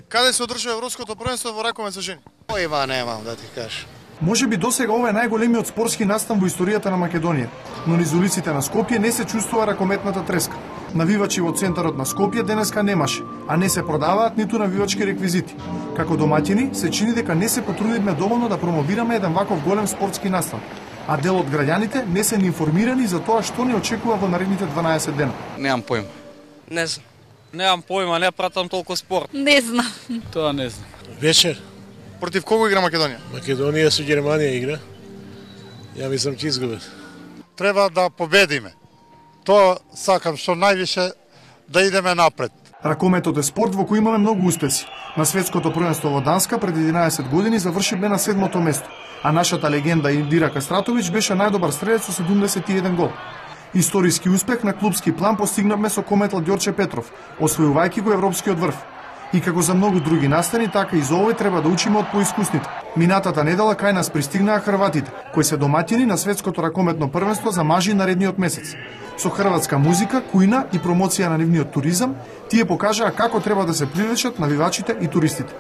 Каде се одржува Европското првенство во ракомет за жени? Појма немам да ти кажам. Може би досега ова е најголемиот спортски настан во историјата на Македонија, но низ улиците на Скопје не се чувствува ракометната треска. Навивачи во центарот на Скопје денеска немаше, а не се продаваат ниту навивачки реквизити. Како домаќини се чини дека не се потрудивме доволно да промовираме еден ваков голем спортски настан, а дел од граѓаните не се ни информирани за тоа што ни очекува во наредните 12 дена. Немам појма. Не знам. Немам појма, не пратам толку спорт. Не знам. Тоа не знам. Вечер. Против кого игра Македонија? Македонија со Германија игра. Ја мислам ќе изгубат. Треба да победиме. Тоа сакам што највише да идеме напред. Ракометот е спорт во кој имаме многу успеси. На светското првенство во Данска пред 11 години завршивме на 7-то место, а нашата легенда Индира Кастратовиќ беше најдобар стрелец со 71 гол. Историски успех на клупски план постигнавме со кометал Ѓорче Петров, освојувајќи го европскиот врв. И како за многу други настани, така и за овој треба да учиме од поискусните. Минатата недела кај нас пристигнаа хрватите, кои се домаќини на светското ракометно првенство за мажи наредниот месец. Со хрватска музика, кујна и промоција на нивниот туризам, тие покажаа како треба да се привлечат навивачите и туристите.